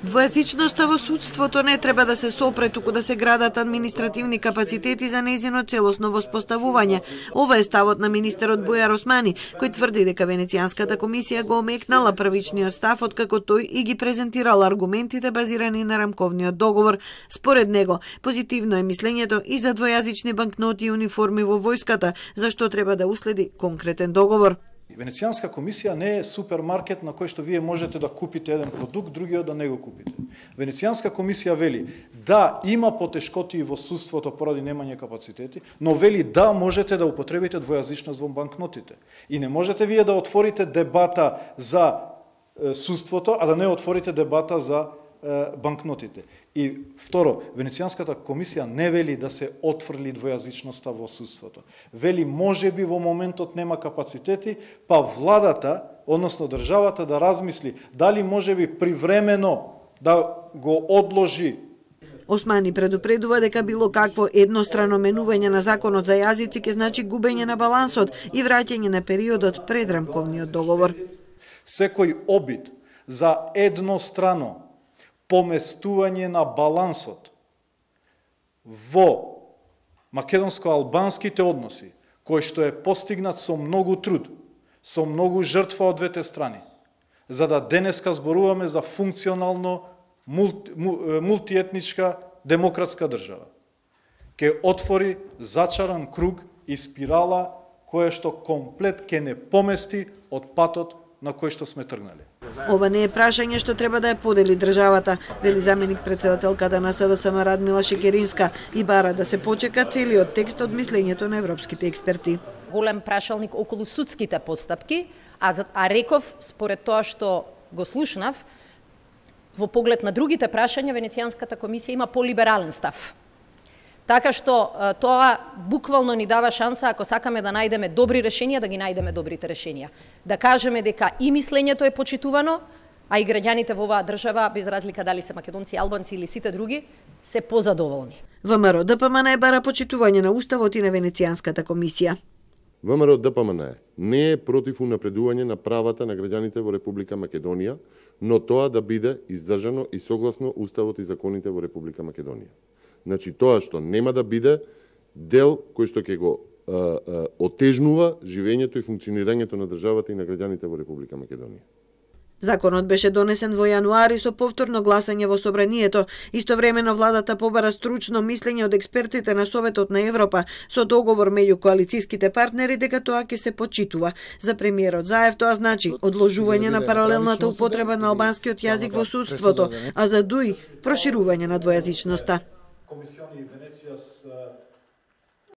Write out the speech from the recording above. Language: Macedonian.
Двојазичноста во судството не треба да се сопре, туку да се градат административни капацитети за нејзино целосно воспоставување. Ова е ставот на министерот Бујар Османи, кој тврди дека Венецијанската комисија го омекнала првичниот став откако тој и ги презентирал аргументите базирани на рамковниот договор. Според него, позитивно е мислењето и за двојазични банкноти и униформи во војската, зашто треба да уследи конкретен договор. Венецијанска комисија не е супермаркет на кој што вие можете да купите еден продукт, другиот да не го купите. Венецијанска комисија вели да има потешкоти во судството поради немање капацитети, но вели да можете да употребите двојазичност во банкнотите. И не можете вие да отворите дебата за судството, а да не отворите дебата за банкнотите. И второ, Венецијанската комисија не вели да се отфрли двојазичноста во судството. Вели можеби во моментот нема капацитети, па владата, односно државата да размисли дали можеби привремено да го одложи. Османи предупредува дека било какво еднострано менување на законот за јазици ќе значи губење на балансот и враќање на периодот пред рамковниот договор. Секој обид за еднострано поместување на балансот во македонско-албанските односи, кој што е постигнат со многу труд, со многу жртва од двете страни, за да денеска зборуваме за функционално мултиетничка демократска држава, ќе отвори зачаран круг и спирала која што комплет ќе не помести од патот на кој што сме тргнали. Ова не е прашање што треба да ја подели државата, вели заменик председателката на СДСМ Радмила Шекеринска и бара да се почека целиот текст од мислењето на европските експерти. Голем прашалник околу судските постапки, а реков, според тоа што го слушнав, во поглед на другите прашања, Венецијанската комисија има полиберален став. Така што тоа буквално ни дава шанса, ако сакаме да најдеме добри решенија, да ги најдеме добрите решенија. Да кажеме дека и мислењето е почитувано, а и граѓаните во оваа држава, без разлика дали се македонци, албанци или сите други, се позадоволни. ВМРО ДПМН бара почитување на уставот и на Венецијанската комисија. ВМРО ДПМН не е против унапредување на правата на граѓаните во Република Македонија, но тоа да биде издржано и согласно уставот и законите во Република Македонија. Значи тоа што нема да биде дел кој што ќе го отежнува живењето и функционирањето на државата и на граѓаните во Република Македонија. Законот беше донесен во јануари со повторно гласање во собранието. Истовремено владата побара стручно мислење од експертите на Советот на Европа со договор меѓу коалицијските партнери дека тоа ќе се почитува. За премиерот Заев тоа значи одложување на паралелната употреба на албанскиот јазик во судството, а за ДУИ проширување на двојазичноста. Комисиони Венеција